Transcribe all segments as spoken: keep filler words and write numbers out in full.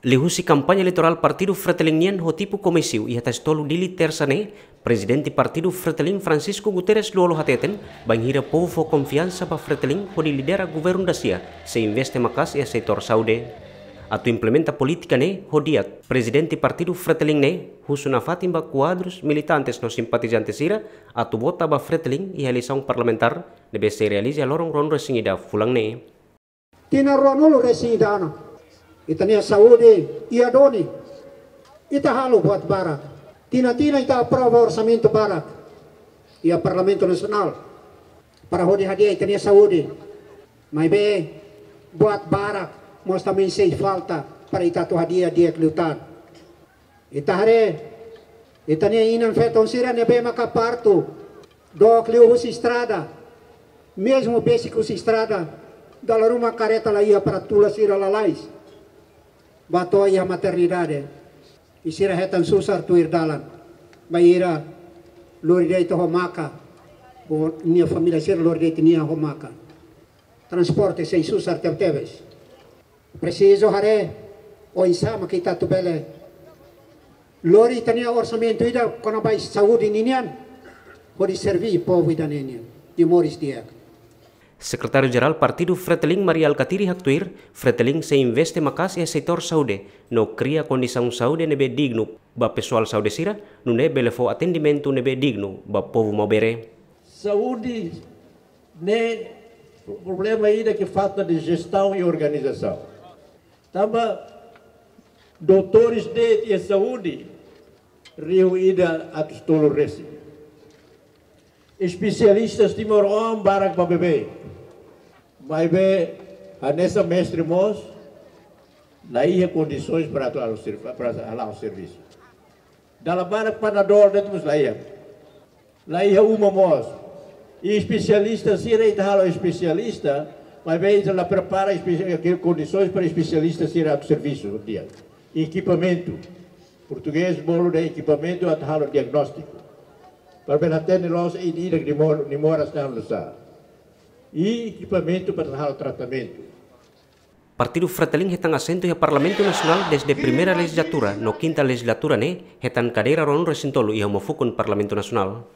Liuhusi kampaña eleitorál partidu Fretilin nian ho tipu komísiu iha Tasi Tolu, Dili, Tersa ne'e, Prezidente partidu Fretilin, Francisco Guterres Lú-Olo, hateten bainhira povu fó konfiansa ba Fretilin hodi lidera governu da-sia, sei investe maka'as iha setór saúde. Atu implementa polítika ne'e ho di'ak, Prezidente partidu Fretilin ne'e husu nafatin ba kuadrus, militantes no simpatizante sira atu vota ba Fretilin iha eleisaun parlamentár ne'ebé sei realiza loron ruanulu-resin-ida fulan ne'e. Tinan ruanulu-resin-ida ona, ita-nia saúde iha duni. Ita halo buat barak. Tinan-tinan ita aprova orsamentu barak iha Parlamentu Nasionál para hodi hadi'a ita-nia saúde. Maibé buat barak mós também sei falta para ita atu hadi'a di'ak liután. Ita haree, ita-nia inan-feton sira ne'ebé maka partu dook liu husi estrada, mezmu besik husi estrada, dala ruma kareta la iha para tula sira lalais bá to'o iha maternidade. I sira hetan susar tuir dalan, bainhira lori de'it ho maka, ou nia família sira lori de'it nia ho maka. Transporte sei susar tebetebes. Presiza haree oinsá mak ita atu bele lori ita-nia orsamentu ida kona-ba saúde ninian, hodi serví povu ida-ne'e nian, de moris di'ak. Sekretáriu Jerál Partidu Fretilin, Mari Alkatiri, haktuir, Fretilin sei investe maka'as iha setór saúde no kria kondisaun saúde ne'ebé dignu ba pesoál saúde sira, nune'e bele fó atendimentu ne'ebé dignu ba povu maubere. Saúde ne'e problema ida ke falta de jestaun i organizasaun. Tanba doutores de'it iha saúde rihun ida atus tolu resin. Espesialistas timoroan barak ba beibeik. Maibé hanesan mestre mós la iha kondisoens para atu halo servi-, para hala'o servisu. Dala barak Panadol de'it mós la iha. La iha uma mós. I espesialista sira ita halo espesialista, maibé ita la prepara espe-, kondisoens para espesialista sira atu servisu di'ak. Ekipamentu. Portugés bolu dehan ekipamentu atu halo diagnóstiku. Para bele hatene loos ida-idak nia mor-, nia moras ne'e hanesan. I ekipamentu para halo tratamentu. Partidu Fretilin hetan asentu iha Parlamentu Nasionál dezde primeira lejizlatura, no kinta lejizlatura ne'e hetan kadeira ruanulu-resin-tolu iha uma fukun Parlamentu Nasionál.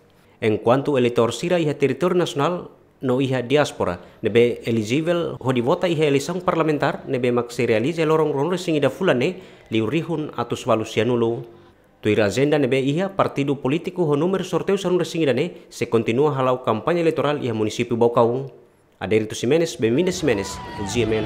Enkuantu eleitór sira iha territóriu nasionál no iha diáspora ne'ebé elijivel hodi vota iha eleisaun parlamentár ne'ebé mak sei realiza loron ruanulu-resin-ida fulan ne'e, liu rihun atus ualu sianulu. Tuir ajenda ne'ebé iha, partidu polítiku ho númeru sorteiu sanulu-resin-ida ne'e sei kontinua hala'o kampaña eleitorál iha munisípiu Baucau. Adérito Ximenes, Benvinda Ximenes, G M N.